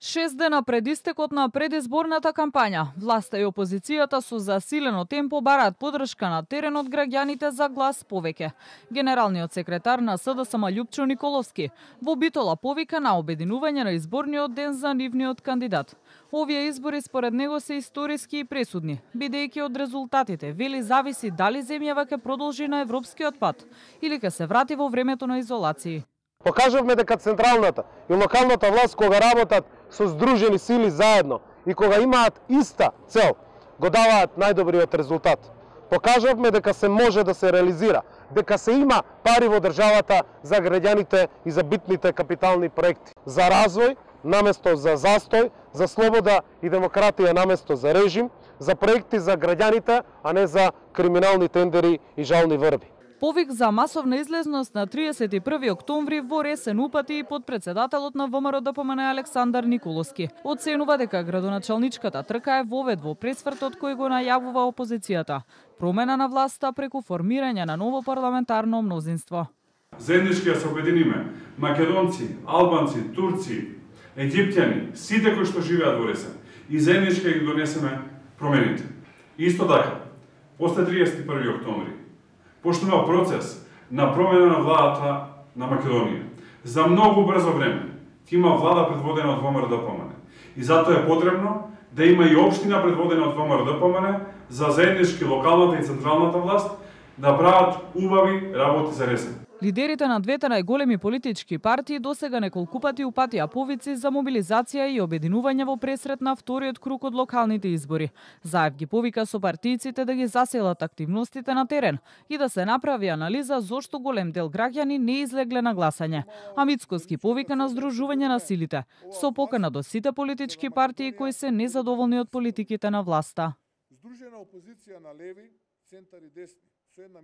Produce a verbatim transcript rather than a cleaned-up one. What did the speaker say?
Шест дена пред истекот на предизборната кампања, власта и опозицијата со засилено темпо бараат подршка на терен од граѓаните за глас повеќе. Генералниот секретар на СДСМ Љупчо Николовски во Битола повика на обединување на изборниот ден за нивниот кандидат. Овие избори според него се историски и пресудни, бидејќи од резултатите вели зависи дали земјава ќе продолжи на европскиот пат или ќе се врати во времето на изолација. Покажавме дека централната и локалната власт кога работат со здружени сили заедно и кога имаат иста цел, го даваат најдобриот резултат. Покажавме дека се може да се реализира, дека се има пари во државата за граѓаните и за битните капитални проекти, за развој наместо за застој, за слобода и демократија наместо за режим, за проекти за граѓаните, а не за криминални тендери и жални врби. Повик за масовна излезност на триесет и први октомври во Ресен упати и подпредседателот на ВМРО Д П М Н Александар Николовски. Оценува дека градоначалничката трка е вовед во пресвртот кој го најавува опозицијата. Промена на власта преку формирање на ново парламентарно мнозинство. Заеднички се обединиме, македонци, албанци, турци, египтјани, сите кои што живеат во Ресен, и заеднички ги донесеме промените. Исто така, после триесет и први октомври, пошто има процес на промена на владата на Македонија. За многу брзо време ќе има влада предводена од ВМРО Д П М Н. И затоа е потребно да има и општина предводена од ВМРО Д П М Н за заеднички локалната и централната власт да прават убави работи за Ресен. Лидерите на двете најголеми политички партии досега неколку пати упатија повици за мобилизација и обединување во пресрет на вториот круг од локалните избори. Заев ги повика со партијците да ги заселат активностите на терен и да се направи анализа зошто голем дел граѓани не излегле на гласање. А Мицкоски повика на здружување на силите, со покана до сите политички партии кои се незадоволни од политиките на власта. Здружена опозиција на леви, центар и десни, со една